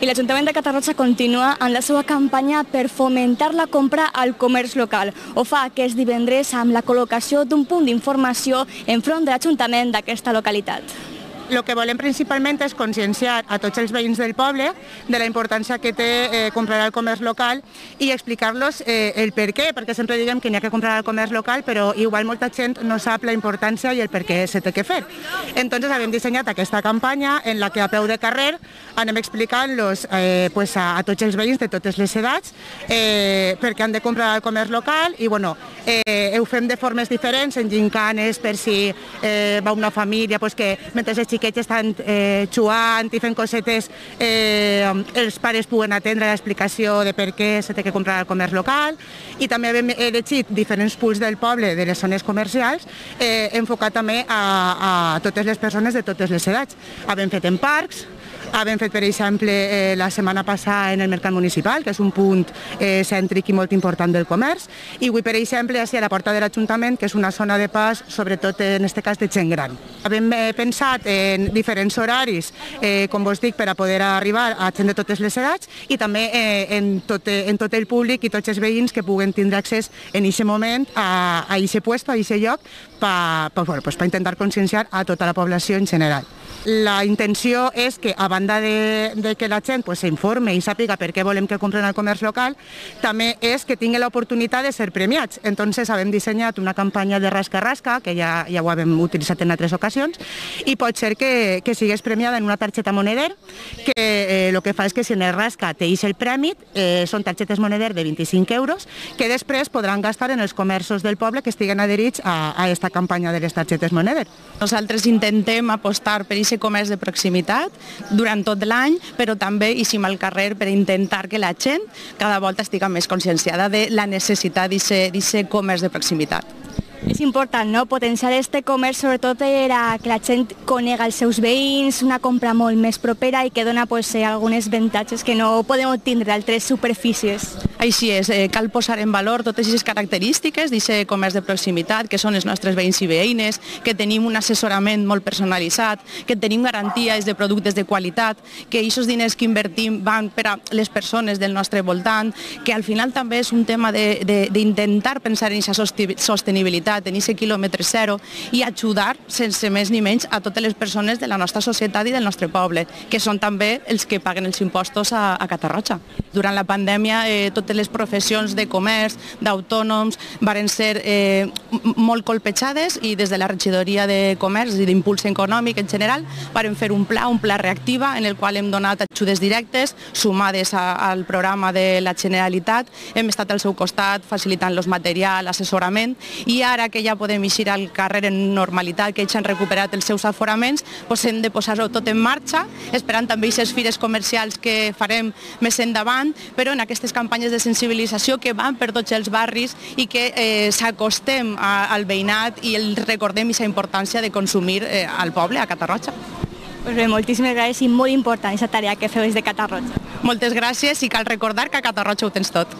I l'Ajuntament de Catarroja continua en la seva campanya per fomentar la compra al comerç local. Ho fa aquest divendres amb la col·locació d'un punt d'informació enfront de l'Ajuntament d'aquesta localitat. El que volem principalment és conscienciar a tots els veïns del poble de la importància que té comprar al comerç local i explicar-los el per què, perquè sempre diguem que n'hi ha que comprar al comerç local, però igual molta gent no sap la importància i el per què se té que fer. Entonces hem dissenyat aquesta campanya en la que a peu de carrer anem explicant-los a tots els veïns de totes les edats per què han de comprar al comerç local i ho fem de formes diferents, en gincanes per si va una família que mentre els xiquets estan jugant i fent cosetes, els pares puguen atendre l'explicació de per què se té que comprar al comerç local i també hem elegit diferents punts del poble, de les zones comercials, enfocat també a totes les persones de totes les edats. Hem fet en parcs, hem fet, per exemple, la setmana passada en el Mercat Municipal, que és un punt cèntric i molt important del comerç, i avui, per exemple, a la porta de l'Ajuntament, que és una zona de pas, sobretot en aquest cas de gent gran. Hem pensat en diferents horaris, com vos dic, per a poder arribar a gent de totes les edats i també en tot el públic i tots els veïns que puguen tindre accés en aquest moment a aquest lloc, a aquest lloc, per intentar conscienciar a tota la població en general. La intenció és que, a banda de que la gent s'informe i sàpiga per què volem que compren al comerç local, també és que tingui l'oportunitat de ser premiats. Entonces, hem dissenyat una campanya de rasca-rasca, que ja ho hem utilitzat en altres ocasions, i pot ser que sigués premiada en una targeta moneder, que el que fa és que si en el rasca t'eix el premi, són targetes moneder de 25 euros, que després podran gastar en els comerços del poble que estiguen adherits a aquesta campanya de les targetes moneder. Nosaltres intentem apostar per aquest comerç de proximitat durant tot l'any, però també eixim al carrer per intentar que la gent cada volta estigui més conscienciada de la necessitat d'aquest comerç de proximitat. És important, no?, potenciar aquest comerç, sobretot que la gent conega els seus veïns, una compra molt més propera i que dona alguns avantatges que no podem obtindre d'altres superfícies. Així és, cal posar en valor totes aquestes característiques d'aquest comerç de proximitat, que són els nostres veïns i veïnes, que tenim un assessorament molt personalitzat, que tenim garanties de productes de qualitat, que aquests diners que invertim van per a les persones del nostre voltant, que al final també és un tema d'intentar pensar en aquesta sostenibilitat, en aquest quilòmetre zero i ajudar sense més ni menys a totes les persones de la nostra societat i del nostre poble, que són també els que paguen els impostos a Catarroja. Durant la pandèmia, totes les professions de comerç, d'autònoms, varen ser molt colpejades i des de la regidoria de comerç i d'impuls econòmic en general varen fer un pla reactiva en el qual hem donat ajudes directes sumades al programa de la Generalitat. Hem estat al seu costat facilitant los material, assessorament, i ara que ja podem eixir al carrer en normalitat, que ells han recuperat els seus aforaments, hem de posar-ho tot en marxa, esperant també aquestes fires comercials que farem més endavant, però en aquestes campanyes de sensibilització que van per tots els barris i que s'acostem al veïnat i recordem aquesta importància de consumir al poble, a Catarroja. Bé, moltíssimes gràcies i molt important aquesta tarea que feu des de Catarroja. Moltes gràcies i cal recordar que a Catarroja ho tens tot.